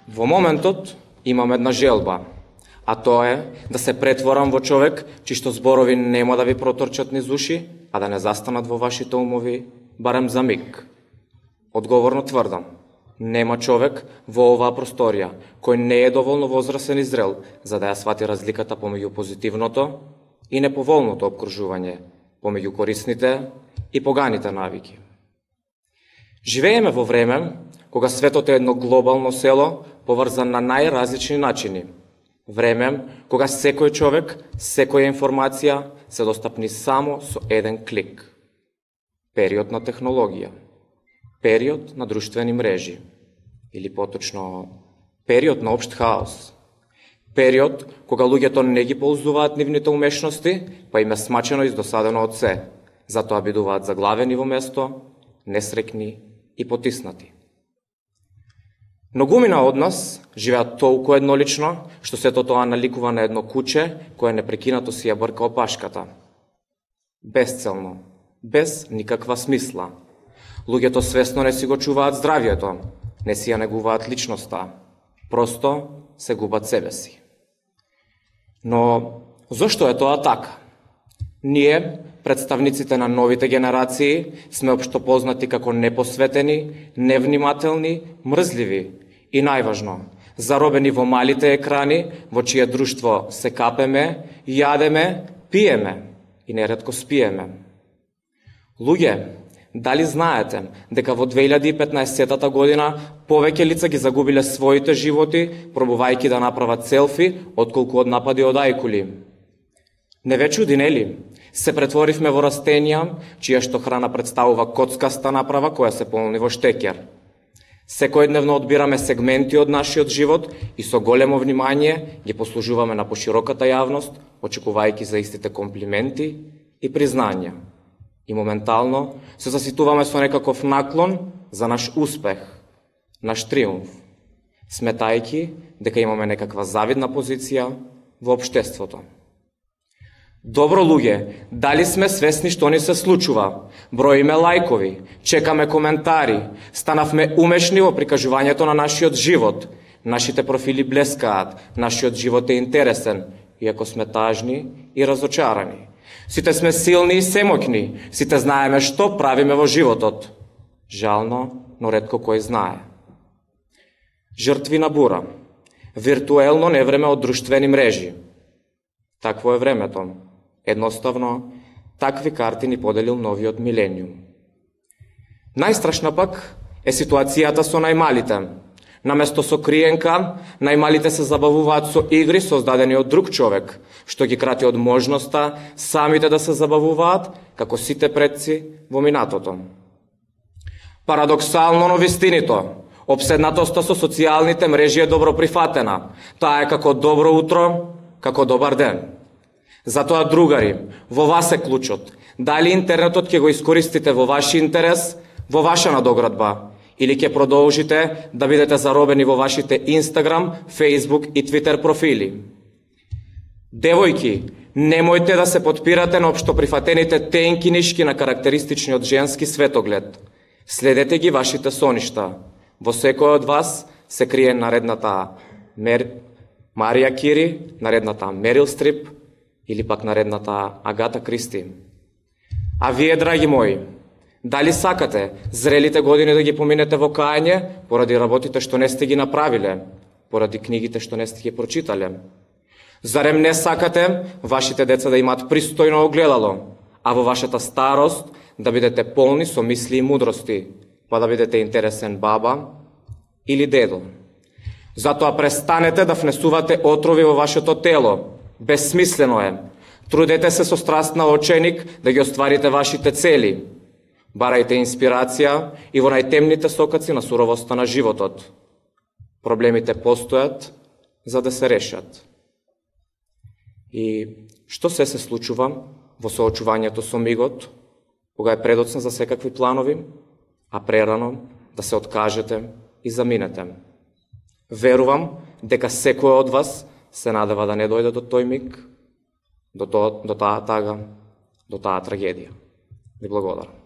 Во моментот имам една желба, а тоа е да се претворам во човек чишто зборови нема да ви проторчат низ уши, а да не застанат во вашите умови барем за миг. Одговорно тврдам, нема човек во оваа просторија кој не е доволно возрасен и зрел за да ја свати разликата помеѓу позитивното и неповолното обкружување, помеѓу корисните и поганите навики. Живееме во време кога светот е едно глобално село поврзан на најразлични начини. Време кога секој човек, секоја информација се достапни само со еден клик. Период на технологија. Период на друштвени мрежи. Или поточно, период на општ хаос. Период кога луѓето не ги ползуваат нивните умешности, па им е смачено и издосадено од се. Затоа бидуваат заглавени во место, несрекни и потиснати. Многумина од нас живеат толку еднолично, што сето тоа наликува на едно куче кое непрекинато си ја брка опашката. Безцелно, без никаква смисла. Луѓето свесно не си го чуваат здравието, не си ја негуваат личноста, просто се губат себе си. Но зошто е тоа така? Ние, представниците на новите генерации, сме општо познати како непосветени, невнимателни, мрзливи и најважно, заробени во малите екрани, во чие друштво се капеме, јадеме, пиеме и неретко спиеме. Луѓе, дали знаете дека во 2015 година повеќе лица ги загубиле своите животи, пробувајќи да направат селфи, отколку од напади од ајкули? Не ве чуди, нели? Се претворивме во растенија, чија што храна представува коцкаста направа која се полни во штекер. Секојдневно одбираме сегменти од нашиот живот и со големо внимание ги послужуваме на пошироката јавност, очекувајќи за истите комплименти и признања. И моментално се заситуваме со некаков наклон за наш успех, наш триумф, сметајќи дека имаме некаква завидна позиција во општеството. Добро луѓе, дали сме свесни што ни се случува? Броиме лајкови, чекаме коментари, станавме умешни во прикажувањето на нашиот живот. Нашите профили блескаат, нашиот живот е интересен, иако сме тажни и разочарани. Сите сме силни и семоќни, сите знаеме што правиме во животот. Жално, но ретко кој знае. Жртви на бура, виртуелно невреме од друштвени мрежи. Такво е времето. Едноставно, такви карти ни поделил новиот милениум. Најстрашна пак е ситуацијата со најмалите. Наместо со криенка, најмалите се забавуваат со игри создадени од друг човек, што ги крати од можноста самите да се забавуваат, како сите предци во минатото. Парадоксално, но вистинито, обседнатоста со социјалните мрежи е добро прифатена. Таа е како добро утро, како добар ден. Затоа, другари, во вас е клучот. Дали интернетот ќе го искористите во ваш интерес, во ваша надоградба, или ќе продолжите да бидете заробени во вашите Инстаграм, Фејсбук и Твитер профили. Девојки, немојте да се потпирате на општоприфатените тенки нишки на карактеристичниот женски светоглед. Следете ги вашите соништа. Во секој од вас се крие наредната Марија Кири, наредната Мерил Стрип или пак наредната Агата Кристи. А вие, драги мои, дали сакате зрелите години да ги поминете во кајање поради работите што не сте ги направиле, поради книгите што не сте ги прочитале? Зарем не сакате вашите деца да имаат пристојно огледало, а во вашата старост да бидете полни со мисли и мудрости, па да бидете интересен баба или дедо? Затоа престанете да внесувате отрови во вашето тело. Безсмислено е. Трудете се со страст на оченик да ги остварите вашите цели. Барајте инспирација и во најтемните сокаци на суровоста на животот. Проблемите постојат за да се решат. И што се случува во соочувањето со мигот, кога е предоцна за секакви планови, а прерано да се откажете и заминете? Верувам дека секој од вас се надева да не дојде до тој миг, до таа тага, до таа трагедија. Ви благодарам.